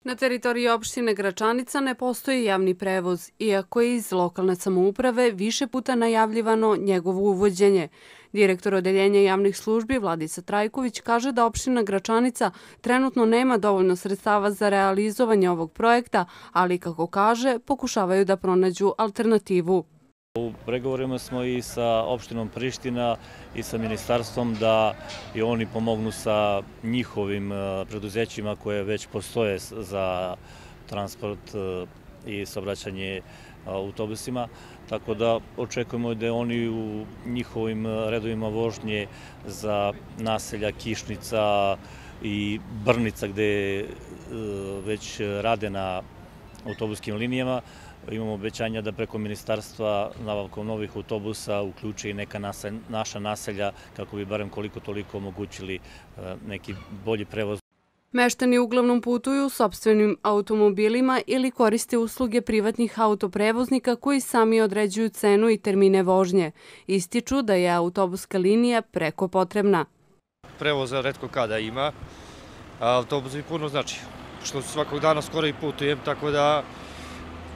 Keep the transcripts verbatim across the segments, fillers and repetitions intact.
Na teritoriji opštine Gračanica ne postoji javni prevoz, iako je iz lokalne samouprave više puta najavljivano njegovo uvođenje. Direktor Odeljenja javnih službi Vladica Trajković kaže da opština Gračanica trenutno nema dovoljno sredstava za realizovanje ovog projekta, ali kako kaže, pokušavaju da pronađu alternativu. U pregovorima smo i sa opštinom Priština i sa ministarstvom da i oni pomognu sa njihovim preduzećima koje već postoje za transport i saobraćanje autobusima, tako da očekujemo da oni u njihovim redovima vožnje za naselja Kišnica i Brnica gde već rade na autobuskim linijama. Imamo obećanja da preko ministarstva nabavkom novih autobusa uključi i neka naša naselja kako bi barem koliko toliko omogućili neki bolji prevoz. Meštani uglavnom putuju sopstvenim automobilima ili koriste usluge privatnih autoprevoznika koji sami određuju cenu i termine vožnje. Ističu da je autobuska linija preko potrebna. Prevoza retko kada ima, a autobus mi puno znači, što svakog dana skoro i putujem, tako da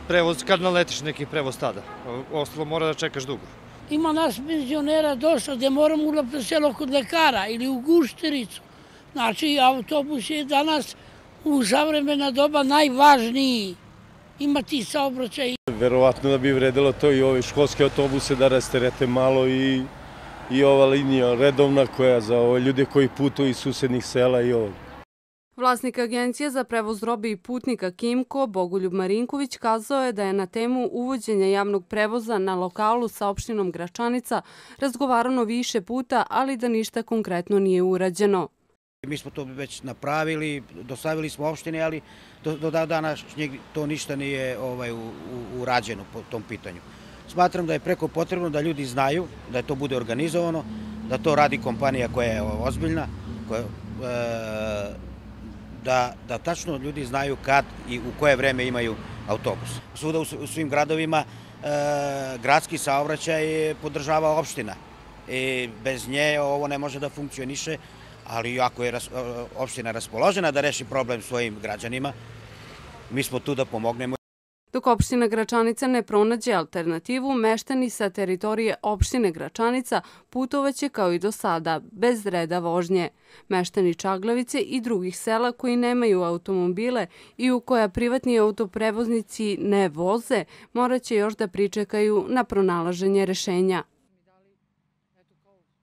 prevoz, kad naletiš neki prevoz tada, ostalo mora da čekaš dugo. Ima nas penzionera dosta gde moramo ulap na selo kod lekara ili u Guštericu. Znači, autobus je danas u savremena doba najvažniji. Imati saobraćaj. Verovatno da bi vredilo to i ove školske autobuse da rasterete malo i, i ova linija redovna koja za ove ljude koji putuju iz susednih sela i ovog. Vlasnik Agencije za prevoz robe i putnika Kimko, Bogoljub Marinković, kazao je da je na temu uvođenja javnog prevoza na lokalu sa opštinom Gračanica razgovarano više puta, ali da ništa konkretno nije urađeno. Mi smo to već napravili, dostavili smo opštine, ali do, do današnjeg to ništa nije ovaj, u, u, urađeno po tom pitanju. Smatram da je preko potrebno da ljudi znaju, da je to bude organizovano, da to radi kompanija koja je ozbiljna, koja, e, da, da tačno ljudi znaju kad i u koje vreme imaju autobus. Svuda u, u svim gradovima e, gradski saobraćaj podržava opština. I bez nje ovo ne može da funkcioniše, ali ako je opština raspoložena da reši problem svojim građanima, mi smo tu da pomognemo. Dok opština Gračanica ne pronađe alternativu, meštani sa teritorije opštine Gračanica putovaće kao i do sada, bez reda vožnje. Meštani Čaglavice i drugih sela koji nemaju automobile i u koja privatni autoprevoznici ne voze, morat će još da pričekaju na pronalaženje rešenja.